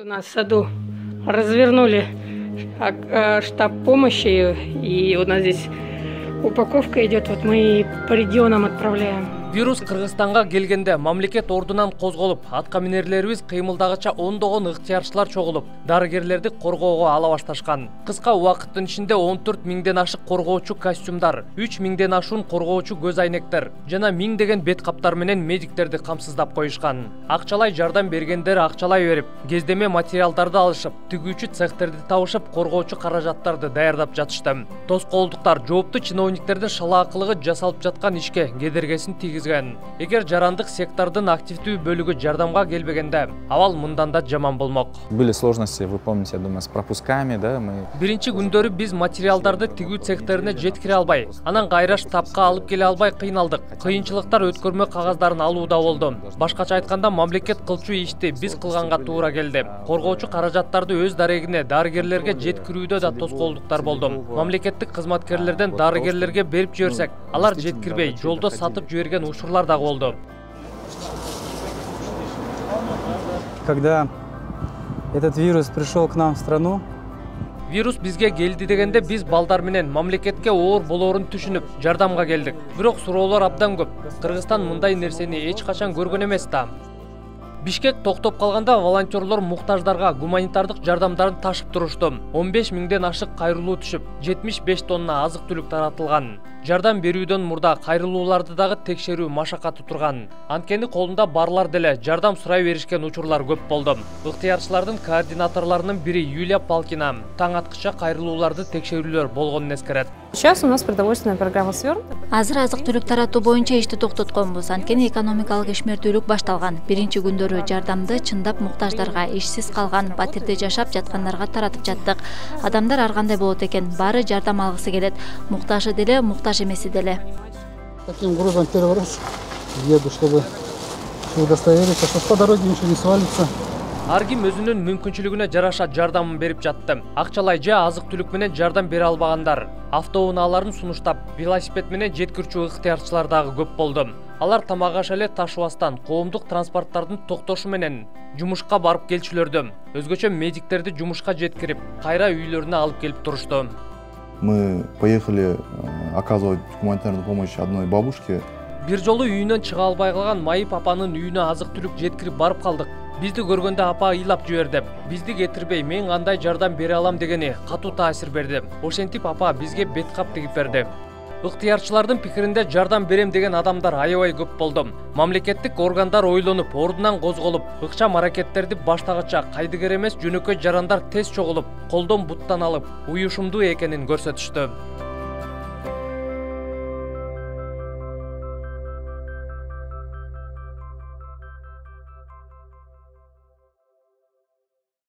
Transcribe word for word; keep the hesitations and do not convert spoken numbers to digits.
У нас в саду развернули штаб помощи, и у нас здесь упаковка идет, вот мы по регионам отправляем. Вирус Кыргызстанга келгенде мамлекет ордунан козголуп, атка минерлерибиз кыймылдагыча ондогон ыктыярчылар чогулуп, дарыгерлерди коргоого ала башташкан. Кыска убакыттын ичинде он төрт миңден ашык коргоочу костюмдар, үч миңден ашуун коргоочу көз айнектер жана миңдеген бет каптар менен медиктерди камсыздап коюшкан. Акчалай жардам бергендер акчалай берип, кездеме материалдарды алышып, тигүүчү цехтерди табышып, коргоочу каражаттарды даярдап жатышты. Тоскоолдуктар жооптуу чиновниктердин шалаакылыгы жасалып жаткан ишке кедергесин тийгизген. Эгер жарандык сектордун активдүү бөлүгү жардамга келбегенде, абал мындан да жаман болмок. Были сложности, вы помните, я думаю, с пропусками, да, мы. Биринчи күндөрү биз материалдарды тигүү цехтерине жеткире албай, анан кайра штабка алып келе албай кыйналдык. Кыйынчылыктар өткөрмө кагаздарын алууда болду. Башкача айтканда, мамлекет кылчу ишти биз кылганга туура келди. Коргоочу каражаттарды өз дарегине дарыгерлерге жеткирүүдө да тоскоолдуктар болду. Мамлекеттик кызматкерлерден дарыгерлерге берип жиберсек, алар жеткирбей, жолдо сатып жиберген учурлар да болду. Когда этот вирус пришел к нам в страну, Вирус бизге келди дегенде биз балдар менен мамлекетке оор болоорун түшүнүп, жардамга келдик. Бирок суроолор абдан көп. Кыргызстан мындай нерсени эч качан көргөн эмес да. Бишкек токтоп калганда волонтерлор муктаждарга гуманитардык жардамдарын ташып турушту. он беш миңден ашык кайрылуу түшүп, жетимиш беш тонна азык-түлүк таратылган. Жардам берүүдөн мурда кайрылууларды дагы текшерүү машакаты турган. Анткени колунда барлар деле жардам сурай беришкен учурлар көп болду. Ыктыярчылардын координаторлорунун бири Юлия Палкина таң аткыча кайрылууларды текшерүүлөр болгонун эскерет. Сейчас у нас продовольственная программа свернута. Азыр азык-түлүк таратуу боюнча ишти токтотконбуз. Анткени экономикалык ишмердүүлүк башталган. Биринчи күндөрү жардамды чындап муктаждарга, ишсиз калган, батирде жашап жаткандарга таратып жаттык. Адамдар ар кандай болот экен, баары жардам алгысы келет. Муктажы деле, муктаж эмеси деле. Таким грузом первый раз еду, чтобы удостовериться, что по дороге ничего не свалится. Ар ким өзүнүн мүмкүнчүлүгүнө жараша жардамын берип жатты. Акчалай же азык-түлүк менен жардам бере албагандар, автоунааларын сунуштап, велосипед менен жеткирүүчү ыктыярчылар дагы көп болду. Алар тамак аш эле ташыбастан, коомдук транспорттардын токтошу менен жумушка барып келчүлөрдү. Өзгөчө медиктерди жумушка жеткирип, кайра үйлөрүнө алып келип турушту. Мы поехали оказывать гуманитарную помощь одной бабушке. Бир жолу үйүнөн чыга албай калган Майып апанын үйүнө азык-түлүк жеткирип барып калдык. Бизди көргөндө апа ыйлап жиберди. Бизди кетирбей, мен кандай жардам бере алам дегени катуу таасир берди. Ошентип апа бизге бет кап тигип берди. Ыктыярчылардын пикиринде жардам берем деген адамдар аябай көп болду. Мамлекеттик органдар ойлонуп, ордунан козголуп, ыкчам аракеттерди баштагыча кайдыгер эмес жөнөкөй жарандар тез чогулуп, колдон буттан алып, уюшумдуу экенин көрсөтүштү.